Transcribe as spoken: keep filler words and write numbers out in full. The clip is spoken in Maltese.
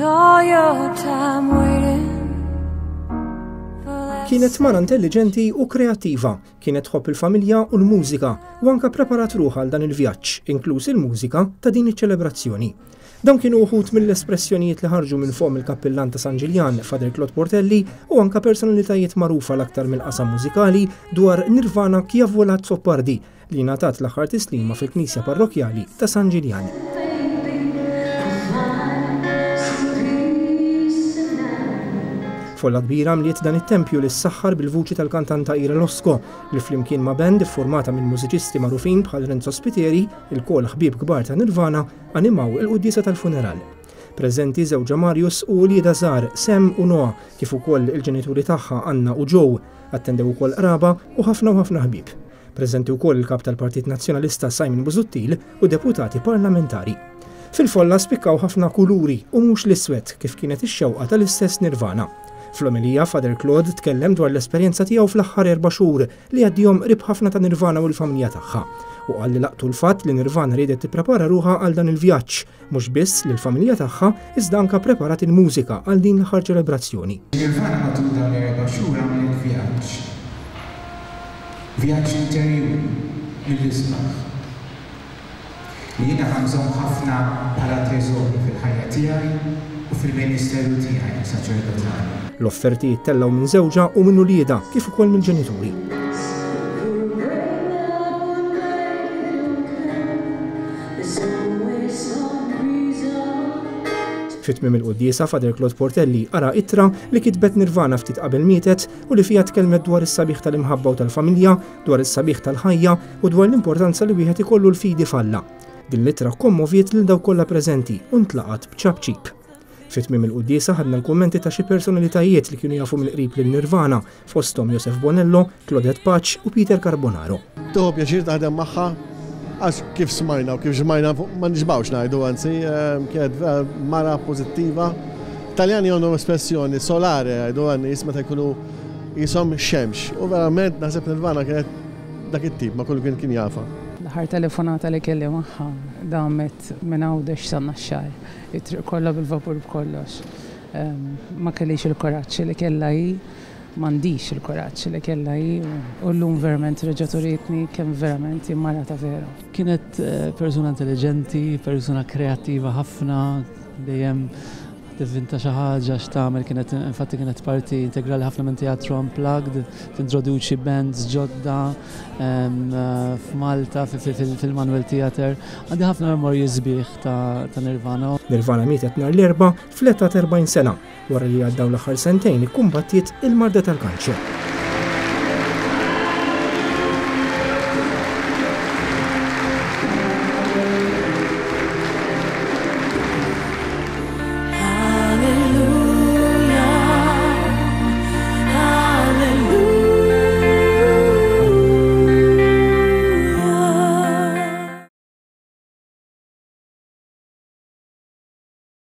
Spend all your time waiting for that Kienet mara intelligenti u kreattiva, kienet tħobb il-familja u l-mużika u anka preparat ruħha għal dan il-vjaġġ, inkluż il-mużika ta' din iċ-ċelebrazzjoni. Dawn kienu uħud mill-espressjonijiet li ħarġu minn fomm il-kappillan ta' San Ġiljan, Father Claude Portelli, u anka personalitajiet magħrufa l-aktar mill-qasam mużikali dwar Nirvana Chiavola Azzopardi, li ngħatat l-aħħar tislima fil-Knisja Parrokjali ta' San Ġiljan. Find some peace tonight. Folla kbira mliet dan it-tempju li ssaħħar bil-vuċi tal-kantanta Ira Losco, li flimkien ma' band formata minn mużiċisti magħrufin bħal Renzo Spiteri, ilkoll ħbieb kbar ta' Nirvana, animaw il-quddiesa tal-funeral. Preżenti żewġha Marius u uliedha żgħar Sam u Noah, kif ukoll il-ġenituri tagħha Anna u Joe, attendew ukoll qraba u ħafna u ħafna ħbieb. Preżenti wkoll il-kap tal-Partit Nazzjonalista Simon Busuttil u deputati parlamentari. Fil-folla spikkaw ħafna kuluri u mhux l-iswed, kif kienet ix-xewqa tal-istess Nirvana. Fl-omelija, Father Claude tkellem dwar l-esperjenza tiegħu fl-aħħar erba' xhur li għaddihom qrib ħafna ta' Nirvana u l-familja tagħha. U qal li laqtu l-fatt li Nirvana riedet tipprepara ruħha għal dan il-vjaġġ, mhux biss lill-familja tagħha, iżda anka preparat il-mużika għal din l-aħħar ċelebrazzjoni. Nirvana matul dawn l-erba' xhur għamlet vjaġġ. Vjaġġ interjuri mill-isbaħ. Li jiena ħa nżomm ħafna bħala teżori fil-ħajja tiegħi u fil-ministeru tiegħi saċerdotali. L-offerti jittellgħu minn żewġha u minn uliedha, kif ukoll mill-ġenituri. Break up and make it okay. There's always some reason. Fi tmiem il-quddiesa, Father Claude Portelli qara ittra li kitbet Nirvana ftit qabel mietet u li fiha tkellmet dwar is-sabiħ tal-imħabba u tal-familja, dwar is-sabiħ tal-ħajja u dwar l-importanza li wieħed ikollu l-fidi f'Alla. Din l-ittra kommoviet lil dawk kollha preżenti u ntlaqat b'ċapċip. Fi tmiem il-quddiesa ħadna l-kummenti ta' xi personalitajiet li kienu jafu mill-qrib lil Nirvana, fosthom Josef Bonello, Claudette Pace u Peter Carbonaro. Tieħu pjaċir taħdem magħha, għax kif smajna u kif ġmajna ma nixbgħux ngħidu, anzi, ehm, kienet vera mara pożittiva. Taljani għandhom espressjoni solare, jgħidu għan-nies meta jkunu qishom xemx. U verament naħseb Nirvana kienet dak it-tip, ma kullu kien kien jafha. L-aħħar telefonata li kelli magħha damet minn Għawdex sa Naxxar, it-triq kollha bil-vapur b'kollox. Ehm, Ma kellix il-kuraġġ li kellha hi, m'għandix il-kuraġġ li kellha hi u llum verament reġgħet urietni kemm verament hi mara ta' veru. Kienet eh, persuna intelligenti, persuna kreattiva ħafna, dejjem tivvinta xi ħaġa x'tagħmel, kienet infatti kienet parti integrali ħafna minn teatru unplugged, tintroduċi bands ġodda em, eh, f'Malta fi- fi- fil- fil-Manuel Theatre. Għandi ħafna memorji sbieħ ta' ta' Nirvana. Nirvana mietet nhar l-Erbgħa fl-età ta' erbgħin sena, wara li għaddaw l-aħħar sentejn ikkumbattiet il-marda tal-kanċer.